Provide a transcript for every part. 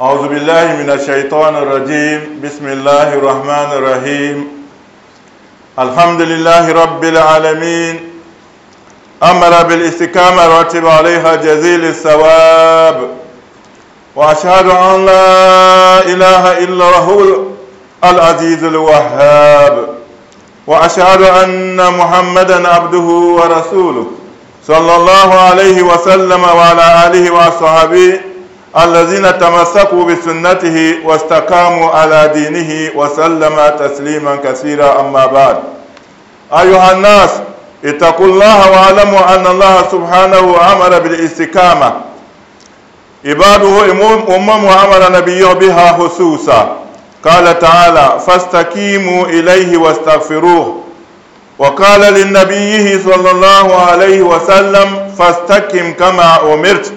أعوذ بالله من الشيطان الرجيم. بسم الله الرحمن الرحيم. الحمد لله رب العالمين. أمر بالاستقامة رتب عليها جزيل الثواب. وأشهد أن لا إله إلا هو العزيز الوهاب. وأشهد أن محمدا عبده ورسوله صلى الله عليه وسلم وعلى آله وصحبه الذين تمسكوا بسنته واستقاموا على دينه وسلم تسليما كثيرا. أما بعد، أيها الناس، اتقوا الله واعلموا أن الله سبحانه أمر بالاستقامة عباده أمم وأمر نبيه بها خصوصا. قال تعالى: فاستقيموا إليه واستغفروه. وقال للنبي صلى الله عليه وسلم: فاستقم كما أمرت.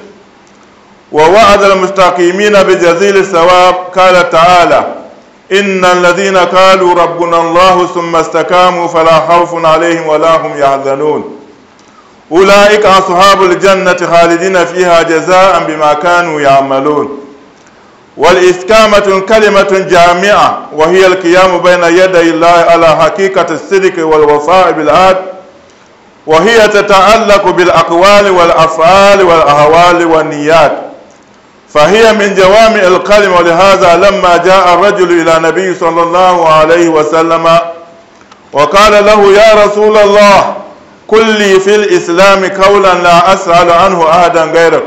ووعد المستقيمين بجزيل الثواب. قال تعالى: إن الذين قالوا ربنا الله ثم استقاموا فلا خوف عليهم ولا هم يحزنون. أولئك أصحاب الجنة خالدين فيها جزاء بما كانوا يعملون. والاستقامة كلمة جامعة، وهي القيام بين يدي الله على حقيقة الصدق والوفاء بالعهد، وهي تتعلق بالأقوال والأفعال والأهوال والنيات، فهي من جوامع الكلم. ولهذا لما جاء الرجل إلى النبي صلى الله عليه وسلم وقال له: يا رسول الله، قل لي في الإسلام قولا لا أسأل عنه أحدا غيرك.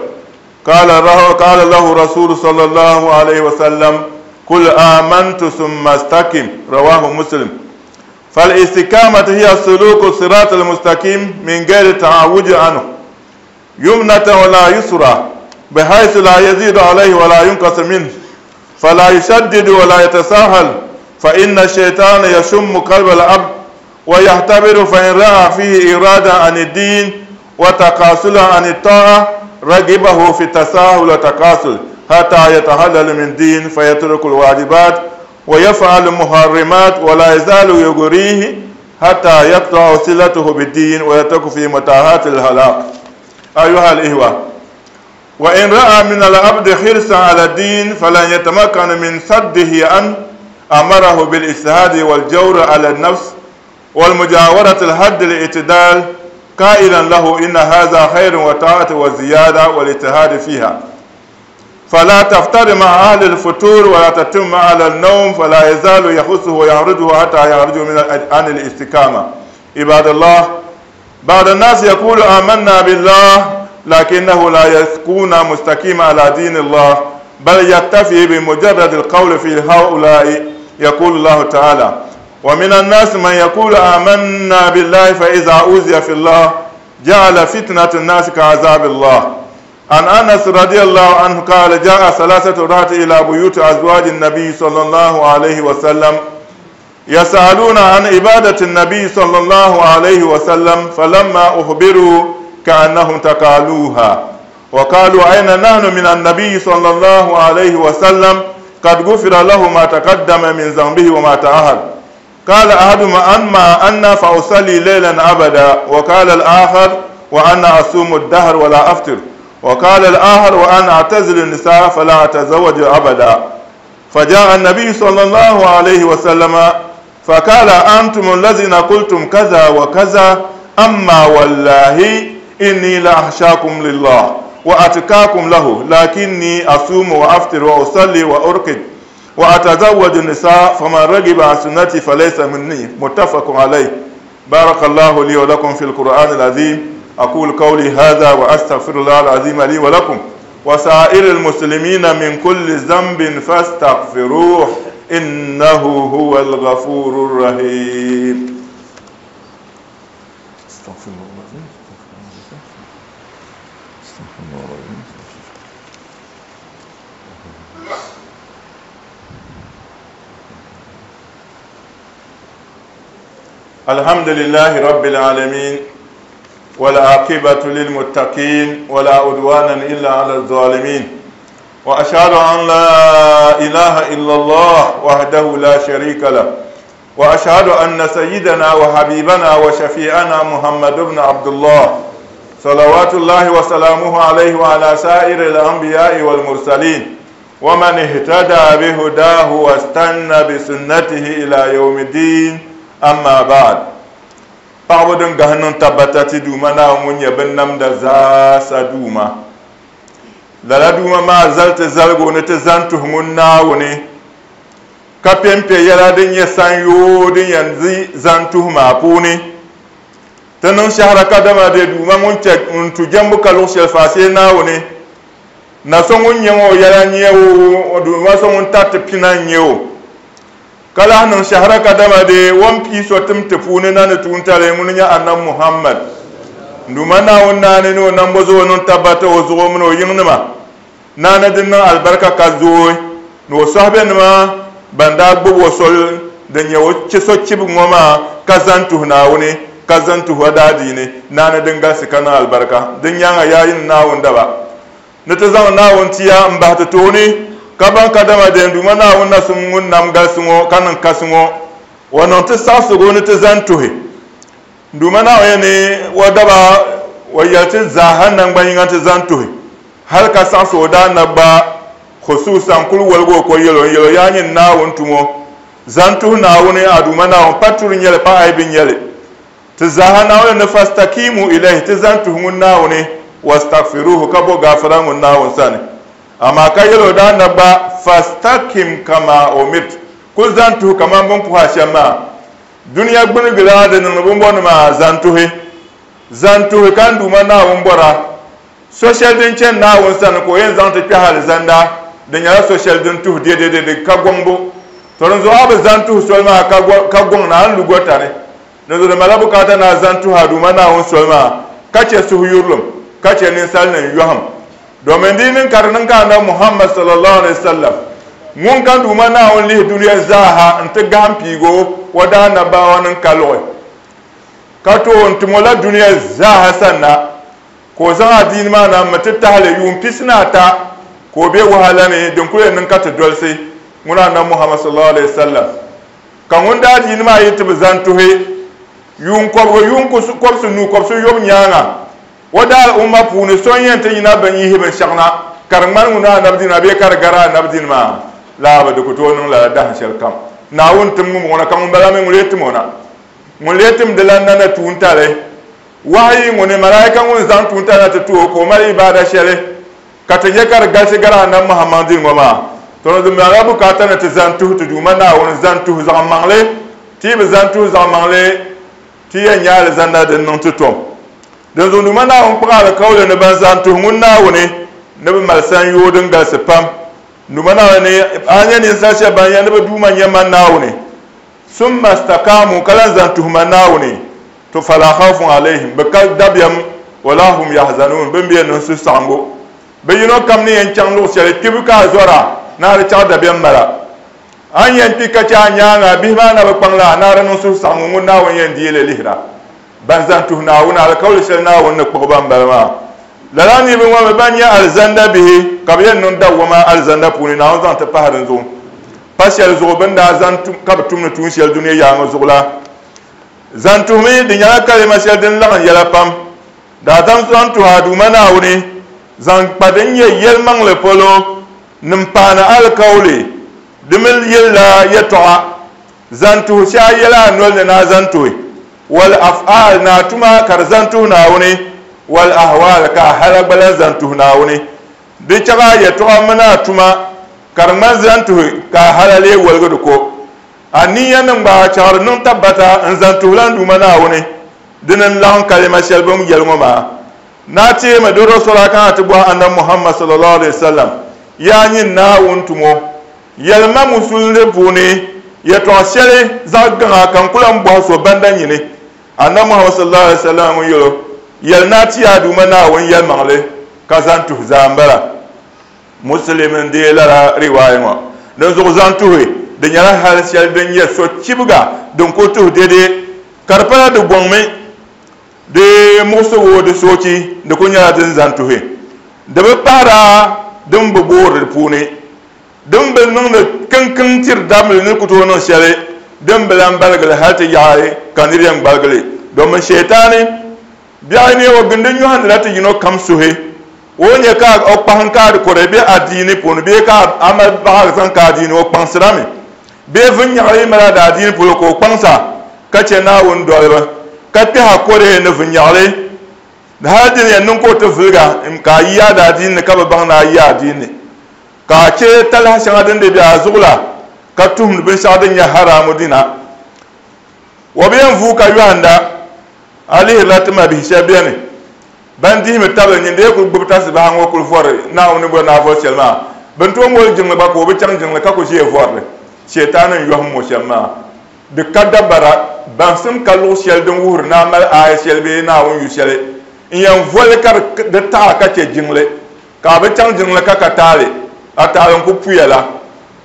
قال له رسول صلى الله عليه وسلم: قل آمنت ثم استقم. رواه مسلم. فالاستقامة هي سلوك الصراط المستقيم من غير تعوج عنه يمنة ولا يسرى، بحيث لا يزيد عليه ولا ينقص منه، فلا يشدد ولا يتساهل، فإن الشيطان يشم قلب العبد ويختبر، فإن رأى فيه إرادة عن الدين وتقاصلا عن الطاعة رغبه في التساهل والتقاصل حتى يتحلل من دين، فيترك الواجبات ويفعل المحرمات، ولا يزال يغريه حتى يقطع صلته بالدين ويترك في متاهات الهلاك. أيها الإخوة، وإن رأى من العبد حرصا على الدين فلن يتمكن من صده عنه، أمره بالاجتهاد والجور على النفس والمجاورة الحد الاعتدال، قائلا له: إن هذا خير وطاعة وزيادة والاجتهاد فيها. فلا تفتر مع أهل الفتور ولا تتم على النوم، فلا يزال يخصه ويعرضه حتى يعرجه عن الاستقامة. عباد الله، بعض الناس يقول آمنا بالله، لكنه لا يكون مستقيما على دين الله، بل يكتفي بمجرد القول. في هؤلاء يقول الله تعالى: ومن الناس من يقول آمنا بالله فإذا أوذي في الله جعل فتنة الناس كعذاب الله. عن أنس رضي الله عنه قال: جاء ثلاثة رهط إلى بيوت أزواج النبي صلى الله عليه وسلم يسألون عن عبادة النبي صلى الله عليه وسلم، فلما أخبروا كأنهم تقالوها وقالوا: أين نحن من النبي صلى الله عليه وسلم؟ قد غفر له ما تقدم من ذنبه وما تأخر. قال أحدهم: أما أنا فأصلي ليلا أبدا، وقال الآخر: وأنا أصوم الدهر ولا أفطر، وقال الآخر: وأنا أعتزل النساء فلا أتزوج أبدا. فجاء النبي صلى الله عليه وسلم فقال: أنتم الذين قلتم كذا وكذا، أما والله إني لأخشاكم لله وأتقاكم له، لكني أصوم وأفطر وأصلي وأرقد وأتزوج النساء، فمن رغب عن سنتي فليس مني. متفق عليه. بارك الله لي ولكم في القرآن العظيم. أقول قولي هذا وأستغفر الله العظيم لي ولكم وسائر المسلمين من كل ذنب فاستغفروه إنه هو الغفور الرحيم. استغفر الله العظيم. استغفر الله العظيم. الحمد لله رب العالمين، والعاقبة للمتقين، ولا عدوان إلا على الظالمين، وأشهد أن لا إله إلا الله وحده لا شريك له، وأشهد أن سيدنا وحبيبنا وشفيعنا محمد بن عبد الله صلوات الله وسلامه عليه وعلى سائر الأنبياء والمرسلين. ومن اهتدى بهداه واستنى بسنته إلى يوم الدين أما بعد paɣaba din gahi niŋ tabbata ti Duuma Naawuni ŋun nyɛ binnamda zaasa Duuma. Lala Duuma maa zali ti zaligu ni ti zani tuhi ŋun Naawuni, ka pɛnpɛ yɛla din nyɛ sanyoo din yɛn di zani tuhi maa puuni. Ti niŋ shɛhira kadama bɛ Duuma ŋun chɛ n-tu jɛmbu ka luɣ shɛli faashee Naawuni, na so ŋun nyɛ ŋɔ o yɛla n-nyɛ o, Duuma so ŋun tariti pina n-nyɛ o. Ka lahi niŋ shɛhira kadama di o ni pii so tim ti puuni na ni tuuntali, ŋuni n-nyɛ Annabi Muhammad. N Duuma Naawuni naani ni o nambo zuɣu niŋ tabbata o zuɣu mini o yiŋnima naani din niŋ alibarika ka zooi, ni o sɔhibenima ban daa gbubi o soli din nyɛ o che so chibigu ŋɔ maa ka zani tuhi Naawuni ka zani tuhi o daadiini naani din galisi ka niŋ alibarika. Din nyaaŋa yaa yinim Naawuni daba! Ni ti zaŋ Naawuni tia m-bahi ti tooni, ka baŋ kadama di yɛn Duuma Naawuni na sum ŋun nam galisi ŋɔ ka niŋ kasi ŋɔ, o niŋ ti saɣisigu ni ti zani tuhi. N Duuma Naawuni yɛn ni o daba o yɛli ti zaaha naŋgbanyiŋa ni ti zani tuhi, hal ka saɣisi o daanab gba, khususan kul woligi o ko yɛl o, n-yɛl o, Yaa nyini Naawuni tumo, zani tuhi Naawuni, a Duuma Naawuni, pa turi n-nyɛ li, pa aibi n-nyɛ li. Ti zaaha Naawuni ni fastakimu ilayhi, ti zani tuhi ŋun Naawuni, wastagfiruhu, ka bo gaafara ŋun Naawuni sani. Amaa ka yɛl o daa na gba, Fastakim kama umirt, kul zani tuhi kaman bɛ ni puhi a shɛm maa. Dunia gbinigila di niŋdi bimbɔni maa, zani tuhi. Zani tuhi ka n Duuma Naawuni bɔra. So shɛli din chani Naawuni sani ka o yɛn zaŋ ti kpɛhi alizanda, di nyɛla so shɛli din tuhi dɛdɛdɛdɛ ka gɔŋbu. To dinzuɣu a bi zani tuhi soli maa ka gɔŋ ni a ni lu gɔta ni. Dinzuɣu di malila bukaata ni a zani tuhi a Duuma Naawuni soli maa, ka chɛ suhuyurilim, ka chɛ ninsalinim yɔhim. Domin di yi niŋ ka di niŋ ka Anabi Muhammad sallallahu alaihi wasallam ŋun ka Duuma Naawuni lihi dunia zaaha nti gahim piigi o o daanabawa niŋ ka luɣi, ka tooi n-tim o la dunia zaaha sanna, ka o zaŋ adiini maa na m-mi ti tahili yuun pisinaata ka o be wahala ni din kuli yɛn niŋ ka ti dolsi ŋuna Anabi Muhammad sallallahu alaihi wasallam. Ka ŋun daa diini maa yi ti bi zani tuhi yuun kɔbigu yuun kɔbisi nuu kɔbisi yobu nyaaŋa, o daal umma puuni so n-yɛn ti yina bɛn yihi binshɛɣu na ka di ŋmani ŋun anabi dini maa bee ka di gari anabi dini maa laa bi di ku tooi niŋ lala dahin shɛli kam. Naawuni tim ŋumbɔŋɔ na ka ŋumbala mi ŋun lee tim o na. Ŋun lee tim di lan na na tuuntali wahayi ŋuni malaika ŋun zaŋ tuuntali na ti ti o ka o mali ibaada shɛli Ka ti nya ka di galisi gari Anabi Muhammad dini ŋɔ maa, tɔ di malila bukaata ni ti zani tuhi ti Duuma Naawuni zani tuhi zaɣ maŋli. Ti yi bi zani tuhi zaɣ maŋli, ti yɛn nya alizanda din niŋ ti tom. Dinzuɣu Duuma Naawuni kpuɣi alikauli ni ban zani tuhi ŋun Naawuni ni bɛ mali sanyoo din galisi pam. Duuma Naawuni ni a nya ninsal shɛba ban yɛli ni bɛ Duuma n-nyɛ man Naawuni, summa stakaamu, ka lan zani tuhi man Naawuni, To fala khawfun alayhim, bɛ ka dabiɛm, wala hum yahzanuun, bɛ mi bi yɛn niŋ suhusaɣiŋgu. Bɛ yino kam ni yɛn chaŋ luɣ shɛli kpibu ka a zɔra, ni a di chaɣ dabiɛm mala. A ni yɛn kpi ka chɛ a nyaaŋa, a bihi maa na bi kpaŋ la a, ni a di niŋ suhusaɣiŋgu ŋun Naawuni yɛn deei li lihira. Ban zani tuhi Naawuni alikauli shɛli Naawuni ni kpuɣi ba m-bala maa. Lala niriba ŋɔ mi ban nyɛ alizanda bihi ka bɛ yɛn niŋ dawwama alizanda puuni, Naawuni zaŋ ti pahi din zuɣu. Pa shɛli zuɣu bɛ ni daa zani tum ka bɛ tumdi tuun shɛli dunia yaaŋa zuɣu la. Zan tuhimi, di nyɛla kalima shɛli din laɣim yɛla pam. Daadam zaŋ tuhi a Duuma Naawuni zaŋ kpa din nyɛ yɛlimaŋli polo ni m-paani alikauli, di mi yɛlila yɛtɔɣa. Zan tuhi shɛ a yɛla a noli ni ni a zan tuhi, wal af'aal, ni a tuma ka di zan tuhi Naawuni, wal ahwaal, ka a hala gba lan zan tuhi Naawuni. Di chaɣ a yɛtɔɣa mini a tuma ka di ŋmani zan tuhi ka a hala lee woligi di ko. A niiya niŋ ba chaɣiri niŋ tabbata n-zaŋ tuhila n Duuma Naawuni, dini n-laɣim kalima shɛli bɛ ni yɛli ŋɔ maa. Naa teemi di Rasulah ka a ti bɔhi Annabi Muhammad sallallahu alaihi wasallam, Yaa nyini Naawuni tumo, yɛlima Musulunli puuni yɛtɔɣ shɛli zaɣ gaŋa ka n ku lan bɔhi so banda nyini. Annabi Muhammad sallallahu alaihi wasallam ŋun yɛl o, Yɛli ni a ti a Duuma Naawuni yɛlimaŋli ka zaŋ tuhi zaa m-bala. Muslim n-deei lala riwaaya ŋɔ. Dinzuɣu zaŋ tuhi, di nyɛla hali shɛli din nyɛ sochibiga din ku tuhi dede ka di pala di gɔŋmi, di muɣisigu, di soochi, di kuli nyɛla din zaŋ tuhi. Di bi pahira din bi boori di puuni, din bi niŋdi kiŋkiŋ tiri dabili ni ku tooi niŋ shɛli, din bi lan baligi li hali ti yaɣi ka nir yɛn gbaligi li, domin Shɛtaani biɛɣu ni o gindi nyɔhindila ti yino kam suhi. O nya ka o kpahim ka di kɔre bɛ adiini puuni bee ka a mali baɣa zaŋ ka adiini o kpaŋsirami bee vinnyaɣili yi mali a daadiini polo ka o kpaŋsa ka chɛ Naawuni dolibu ka kpɛha kɔre ni vinnyaɣili hali di ni yɛn niŋ ka o ti viliga ka a yi a daadiini ni ka bi baŋ ni a yi adiini ni ka a chɛ talahi shɛŋa din di be a zuɣu la ka tuhimdi binshɛɣu din nyɛ haraamu dina. O bi yɛn vuui ka yɔhinda a lihirila ti mabihi shɛba beni ban dihimi tabili nyin dee kuli gbubi tasibaha ŋɔ kuli vɔri Naawuni ni bɔri ni a vɔri shɛli maa. Bɛ ni tooi moli jiŋli gba ka o bi chaŋ jiŋli ka kuli ʒiya vɔri li. Shɛtaani n-yɔhim o shɛm maa. Di ka dabara, baŋsim ka luɣ shɛli din wuhiri ni a mali aaya shɛli bee Naawuni yu shɛli n-yɛn voli ka di taɣi a ka chɛ jiŋli, ka a bi chaŋ jiŋli ka ka taali, a taali n-kuli puya la.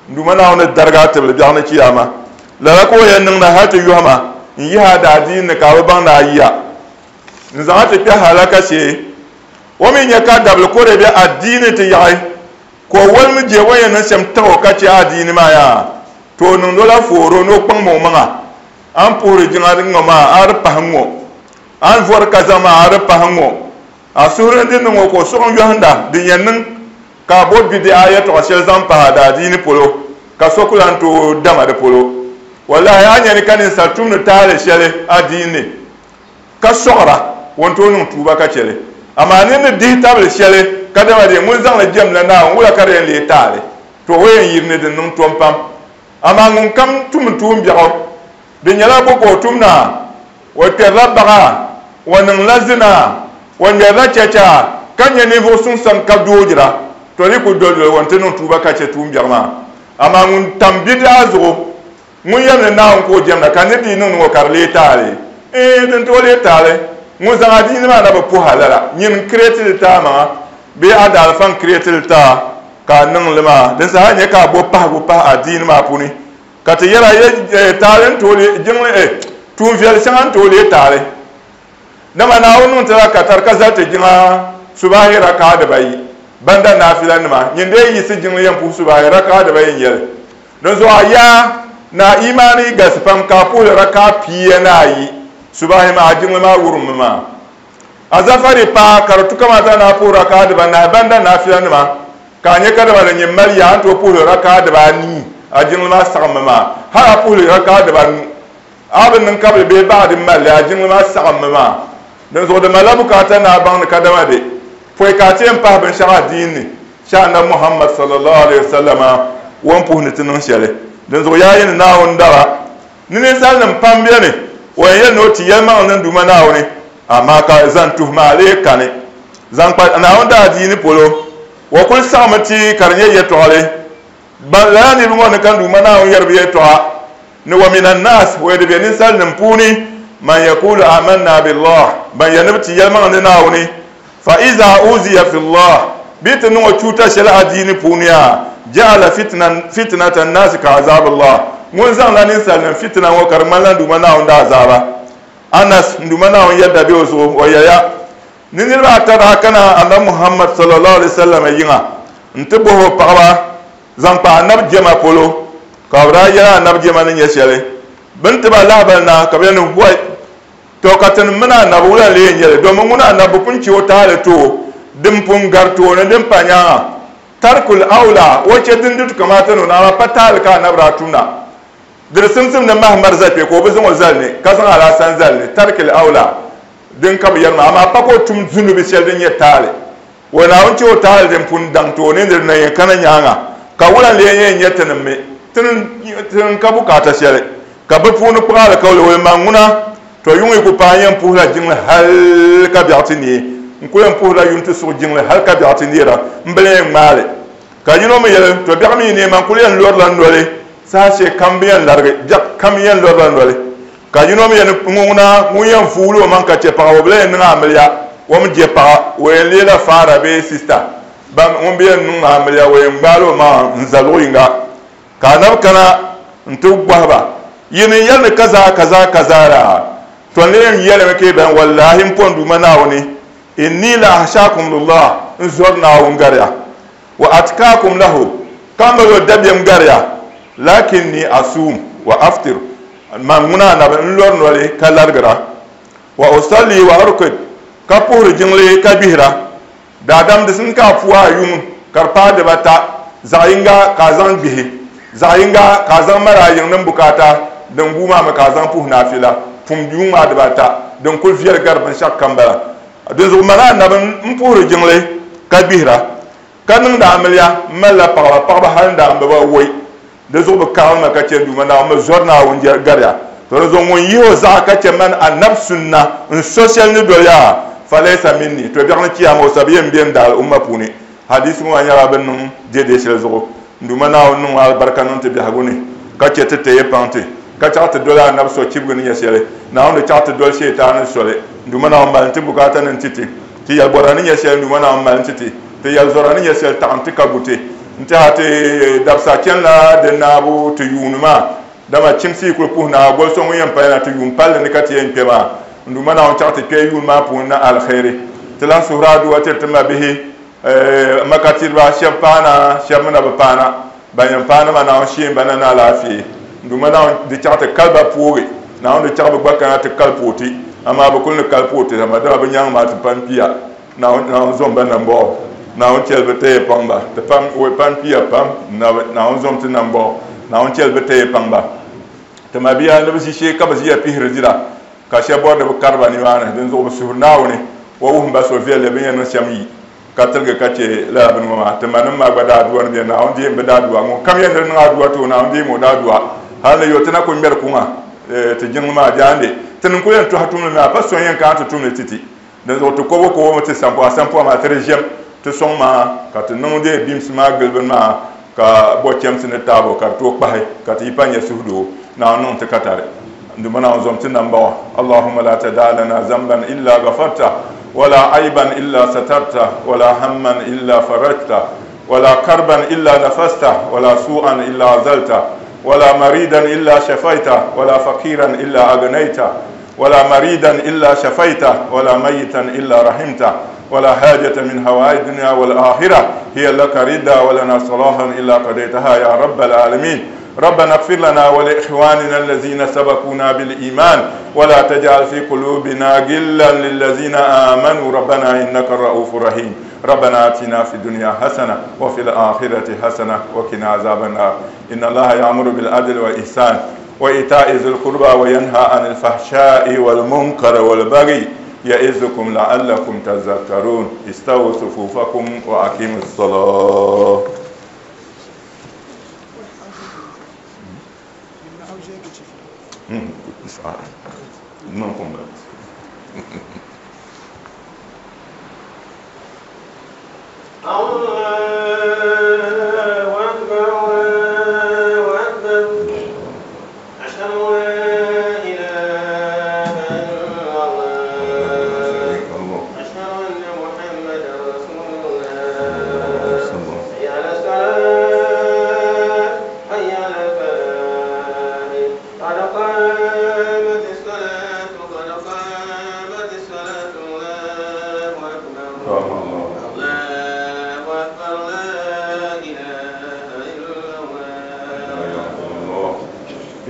N Duuma Naawuni ni darigi a tibili biɛɣu ni chiyaama. Lala ka o yɛn niŋda hal ti yɔhim a n-yihi a daadiini ni ka a bi baŋ ni a yiya. N zaŋ a ti kpe halaka shee. O mi nya ka dabili kore bɛ adiini ti yaɣi, ka o wolimi je o ni yɛn niŋ shɛm taɣ o ka chɛ adiini maa yaa, to o niŋd o la fooro ni o kpaŋm o maŋa. A ni puhiri jiŋa ŋ-ŋɔ maa, a di pahi ŋ-ŋɔ. A ni vɔri kaza maa, a di pahi ŋ-ŋɔ. A suhuri ni di niŋ o ka o suɣim yɔhinda din yɛn niŋ ka a bo bidi'a yɛtɔɣ shɛli zaŋ pahi a daadiini polo, ka so ku lan tooi dam a di polo. Wallahi, a nya ni ka ninsal tumdi taali shɛli adiini ni, ka sɔɣira, o ni tooi niŋ tuuba ka chɛ li. Amaa nir ni dihi tabili shɛli kadama di ŋun zaŋ li jɛmla Naawuni, wula ka di yɛn leei taali? To o yɛn yiri ni di niŋ tom pam. Amaa ŋunkam tum tuumbiɛɣu, di nyɛla bo ka o tum na? O kpɛrila baɣa, o niŋla zina, o ŋmɛrila chacha, ka nyɛ ninvuɣ suŋ sani ka doojira. To di ku dolidoli o nti niŋ tuuba ka chɛ tuumbiɛɣu maa. Amaa ŋun tam bidi'a zuɣu, Ŋun yɛli ni Naawuni ka o jɛmda ka nir dii niŋdi ŋɔ ka di leei taali? Iin, din tooi leei taali. Ŋun zaŋ adiini maa na bi puhi a lala. Nyin n-kireeti li ti a maŋa bee a daalifa n-kireeti li ti a ka a niŋ li maa. Din saha nyɛ ka a bo pahigu pahi adiini maa puuni ka ti yɛl a ye taali n-tooi leei jiŋli, eh, tuun viɛli shɛŋa n-tooi leei taali. Dama Naawuni niŋ ti la katari ka zali ti jiŋa subahi raka'a dibayi, banda naafila nima, nyin dee yiɣisi jiŋli yɛn puhi subahi raka'a dibayi n-yɛli. Dinzuɣu a yaa ni a imaani yi galisi pam ka a puhili raka'a pia ni ayi subahi maa, a jiŋli maa wurimmi maa. A zafari paai ka di tu kamata ni a puhi raka'a dibanahi banda naafila nima, ka a nya kadama di nyin mali yaa a ni tooi puhili raka'a dibaanii, a jiŋli maa saɣimmi maa, hal a puhili raka'a dibanu. A bi niŋ kabili bee baɣa din mali li, a jiŋli maa saɣimmi maa. Dinzuɣu di malila bukaata ni a baŋ ni kadama di pɔi ka a ti yɛn pahi binshɛɣu adiini ni shɛ Anabi Muhammad sallallahu alaihi wasallama o ni puhi ni ti niŋ shɛli. Dinzuɣu yaa yi ni Naawuni daba ni ninsalinim pam beni, o yɛn yɛli ni o ti yɛlimaŋli ni n Duuma Naawuni, amaa ka zan tuhi maa lee kani. Zaŋ kpa Naawuni daadiini polo, o kuli saɣimi ti ka di nyɛ yɛtɔɣili. Ban lala niriba ŋɔ ni ka n Duuma Naawuni yɛri bɛ yɛltɔɣa ni, Wa mina n-naas, o yɛli di be ninsalinim puuni, man yakulu amanna billah, ban yɛli ni bɛ ti yɛlimaŋli ni Naawuni, fa iza uziya fillah, bɛ yi ti niŋ o chuuta shɛli adiini puuni a, ja'ala fitnata n-naasi ka azabillah, ŋun zaŋla ninsalinim fitina ŋɔ ka di ŋmanila n Duuma Naawuni daazaaba. Anas, n Duuma Naawuni yɛdda be o zuɣu, o yɛliya, Ni niriba ata daa kana Anabi Muhammad sallallahu alaihi wasallam yiŋa n-ti bɔhi o paɣaba zaŋ kpa Anabi jɛma polo, ka bɛ daa yɛli Anabi jɛma ni nyɛ shɛli. Bɛ ni ti ba lahibali na ka bɛ yɛli ni, Wai! Tɔ! Ka tinim mini Anabi wula n-lee yɛn nyɛ li? Domin ŋuna Anabi bi pun chɛ o taali ti o din pun gari tooni din pa nyaaŋa. Tarkul awla, o chɛ din di tu kamaata ni o ni, amaa pa taali ka Anabi daa tum na. Di di simsim ni mahi mari zali kpe ka o bi zaŋ o zali ni, ka zaŋ alaasan zali ni, tarkil awla. Din ka bi yɛri maa, amaa pa ka o tum zunubi shɛli din nyɛ taali. O Naawuni chɛ o taali din pun daŋ tooni ni di na yɛn kana nyaaŋa, ka wula n-lee yɛn nyɛ tinim mi? Tinim ka bukaata shɛli, ka bɛ puuni kpuɣi alikauli o ni man ŋuna, tɔ yuŋ yi ku paai n yɛn puhila jiŋli hal ka biɛɣu ti neei. N kul yɛn puhirila yuŋ ti suɣi jiŋli hal ka biɛɣu ti neera, m bi lan yɛn ŋmaai li. Ka yino mi yɛli, Tɔ biɛɣu mi yi neei man kul yɛn lɔrila noli saha shɛli kam bɛ yɛn larigi, biɛɣu kam yɛn lɔrila noli. Ka yino mi yɛli ni ŋuna ŋun yɛn vuuli o maŋ ka chɛ paɣa, o bi lan yɛn niŋ amiliya, o mi je paɣa, o yɛn leela faara bee sista. Ban ŋun bi yɛn niŋ amiliya, o yɛn gbaali o maŋa n-za luɣ yiŋga. Ka anabi kana nti bɔhi ba, Yi ni yɛli ni kaza kaza kaza la, tɔ n lee yɛn yɛlimi ka yi baŋ, wallahi m pɔn Duuma Naawuni, inni la ahshaakum lillah, n zɔri Naawuni gari ya, wa atkaakum lahu, ka mali o dabiɛm gari ya, lakinni asuum wa aftir, man ŋuna anabi n-lɔri noli ka larigira, wa usalli wa urkid, ka puhiri jiŋli ka gbihira. Daadam di simdi ka a puhi a yuŋ ka di paai dibata, zaɣ yinga ka a zaŋ gbihi, zaɣ yinga ka a zaŋ mali a yiŋnim bukaata, din guui maa mi ka a zaŋ puhi naafila pum yuŋ maa dibata, din kul viɛli gari binshɛɣukam bala. Dinzuɣu mani Anabi m-puhiri jiŋli ka gbihira, ka niŋdi amiliya m-malila paɣiba, paɣiba hal n-daa m-bi ba woi. Di zuɣu bɛ karimi ma ka chɛ n Duuma Naawuni mi zɔri Naawuni gariya. To di zuɣu ŋun yihi o zaɣa ka chɛ mani Anabi sunna n-so shɛli ni doli ya, falaysa minni, to biɛɣuni chiyaama o sabi yɛn be n daal umma puuni. Hadiisi ŋɔ maa nyɛla bɛ ni niŋ dɛdɛ shɛli zuɣu. N Duuma Naawuni niŋ alibarika niŋ ti biɛhigu ni, ka chɛ ti teei paŋ ti, ka chaɣ ti doli Anabi so chibigi ni nyɛ shɛli. Naawuni di chaɣ ti doli Shietaani soli. N Duuma Naawuni mali n-ti bukaata ni n-ti ti. Ti yɛlibɔra ni nyɛ shɛli n Duuma Naawuni mali n-ti ti. Ti yɛlizɔra ni nyɛ shɛli taɣim ti ka gu ti. N-tɛha ti dabisa chanila di naabu ti yuuni maa, dama chimsi yi kuli puhi naai goli so ŋun yɛn pali na ti yuun palli ni ka ti yɛn kpe maa. N Duuma Naawuni chaɣ ti kpe yuuni maa puuni na aliheri. Ti lahi suhiri aduwa tiri ti mabihi, makatiriba, shɛba paana, shɛba mi na bi paana. Ban yɛn paani maa Naawuni sheem ba na ni alaafee. N Duuma Naawuni di chaɣ ti kali ba poogi. Naawuni di chaɣ bɛ gba kana ti kali pooi ti, amaa bɛ kuli ni kali pooi ti, dama bɛ nyaŋ maa ti pam kpiya. Naawuni zom ba nambɔɣu. Naawuni chɛli bɛ taya paŋ ba. Ti pam, woi pam kpiya pam. Naawuni zom ti nambɔɣu. Naawuni chɛli bɛ taya paŋ ba. Ti mabia ni bɛ ʒishee ka bɛ ʒiya pihiri dira, ka shɛba bɔri ni bɛ kari ba nimaani. Dinzuɣu bɛ suhiri Naawuni o wuhim ba so viɛlli bɛ ni yɛn niŋ shɛm yi ka tiligi ka chɛ lala bini ŋɔ maa. Ti manim maa gba daadua ni bɛ Naawuni deem bɛ daadua. Ŋun kam yɛn ni di niŋ adua ti o, Naawuni deem o daadua. Hal ni yo ti na kul ŋmɛri kuŋa ti jiŋli maa jaande. Ti ni kul yɛn tɔhi tumli maa, pa so n-yɛn kana ti tumli ti ti. Dinzuɣu ti kobo kobo mi ti sampɔɣa sampɔɣa maa ti di ʒiɛm ti sɔŋ maa ka ti niŋ dee bimsi maa gili bini maa ka bɔ chɛmsi ni taabo ka di tooi kpahi ka ti yi pa nya suhudoo. Naawuni niŋ ti katari. N Duuma Naawuni zom ti nambawa. Allahumma la tadaa lana zamban illa ghafarta wala aiban illa satarta wala hamman illa farajta wala karban illa nafasta wala su'an illa azalta wala maridan illa shafaita wala faqiran illa agnaita ولا مريدا إلا شفيته ولا ميتا إلا رحمته ولا حاجة من هوائج الدنيا والآخرة هي لك رضا ولنا صلاحا إلا قضيتها يا رب العالمين. ربنا اغفر لنا ولإخواننا الذين سبقونا بالإيمان ولا تجعل في قلوبنا غلا للذين آمنوا ربنا إنك الرؤوف الرحيم. ربنا آتنا في الدنيا حسنة وفي الآخرة حسنة وقنا عذاب النار. إن الله يأمر بالعدل والإحسان وإيتاء ذي القربى وينهى عن الفحشاء والمنكر والبغي يعظكم لعلكم تذكرون. استووا صفوفكم وأقيموا الصلاة. الله أكبر الله أكبر أشهد أن لا إله إلا الله أشهد أن محمدا رسول الله حي على الصلاة حي على الفلاح قد قامت الصلاة قد قامت الصلاة الله أكبر الله أكبر لا إله إلا الله.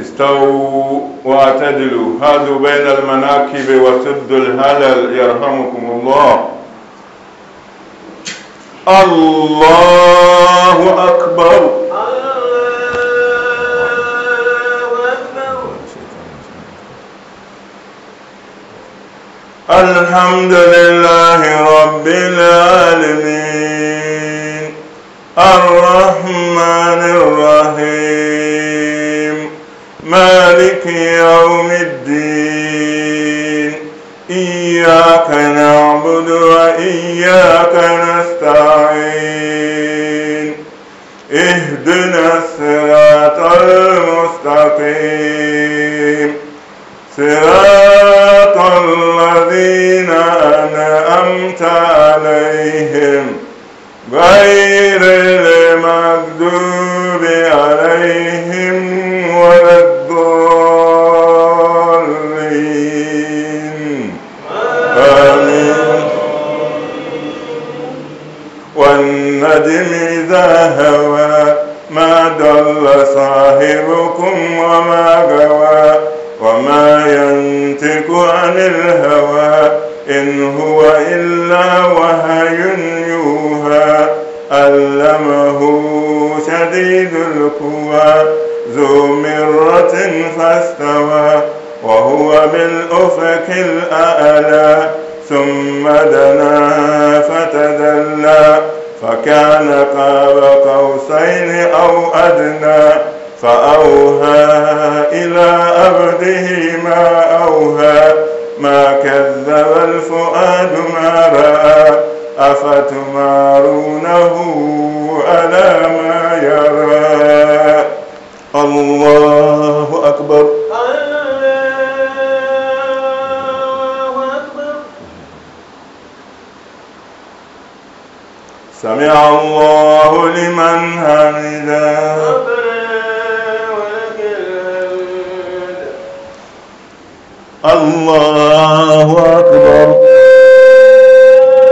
استووا واعتدلوا، هادوا بين المناكب وسدوا الهلل يرحمكم الله. الله أكبر. الله أكبر. الحمد لله رب العالمين الرحمن الرحيم مالك يوم الدين إياك نعبد وإياك نستعين اهدنا الصراط المستقيم صراط الذين أنعمت عليهم غير المغضوب عليهم ولا الضالين. آمين. والنجم إذا هوى ما ضل صاحبكم وما غوى وما ينطق عن الهوى إن هو إلا وحي شديد القوى ذو مرة فاستوى وهو بالأفق الأعلى ثم دنا فتدلى فكان قاب قوسين أو أدنى فأوحى إلى عبده ما أوحى ما كذب الفؤاد ما رأى أفتمارونه على ما يرى. الله أكبر. الله أكبر. سمع الله لمن حمده. ربنا ولك الحمد. الله أكبر.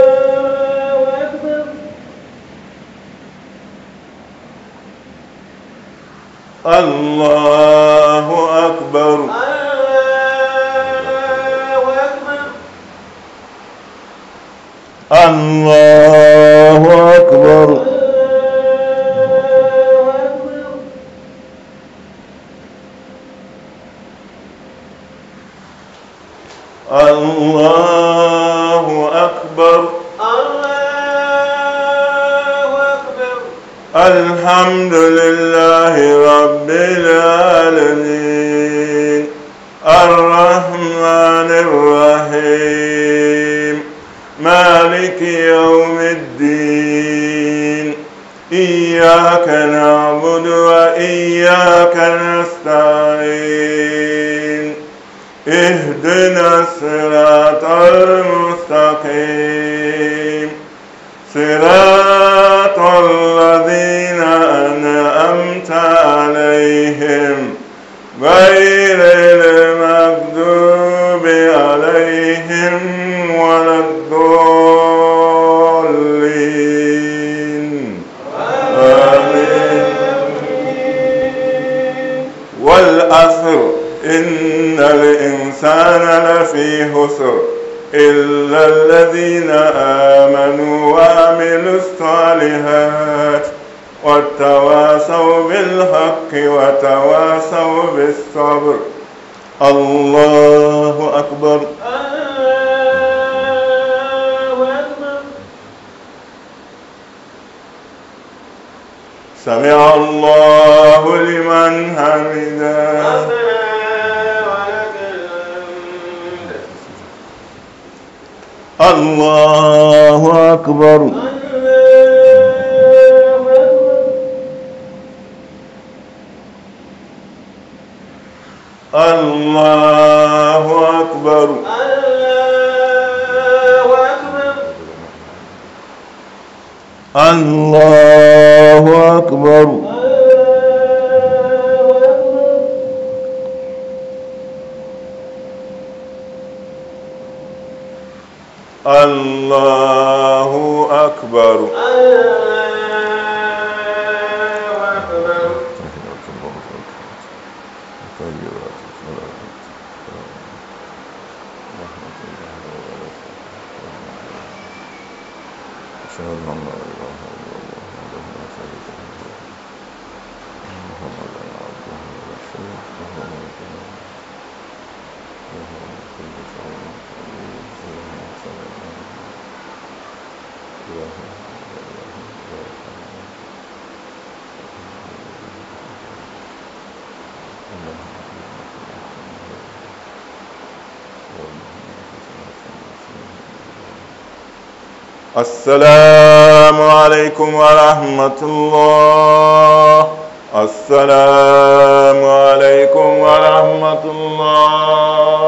الله أكبر. الله أكبر. الله أكبر. الله أكبر. الله أكبر. الله أكبر. الله أكبر. الحمد لله رب العالمين الرحمن الرحيم مالك يوم الدين إياك نعبد وإياك نستعين اهدنا الصراط المستقيم صراط الذين أنعمت عليهم غير المغضوب عليهم ولا الضالين. آمين. والعصر إن الإنسان لفي خسر إلا الذين آمنوا وعملوا الصالحات وتواصوا بالحق وتواصوا بالصبر. الله أكبر. الله أكبر. سمع الله لمن حمده. ربنا ولك الحمد. الله أكبر. الله أكبر. الله أكبر. الله أكبر. الله أكبر. الله أكبر. الله أكبر. الله أكبر. أشهد أن لا إله إلا الله وحده لا شريك له محمدا عبده ورسوله وهو على كل شيء قدير. اللهم صل على محمد السلام عليكم ورحمة الله. السلام عليكم ورحمة الله.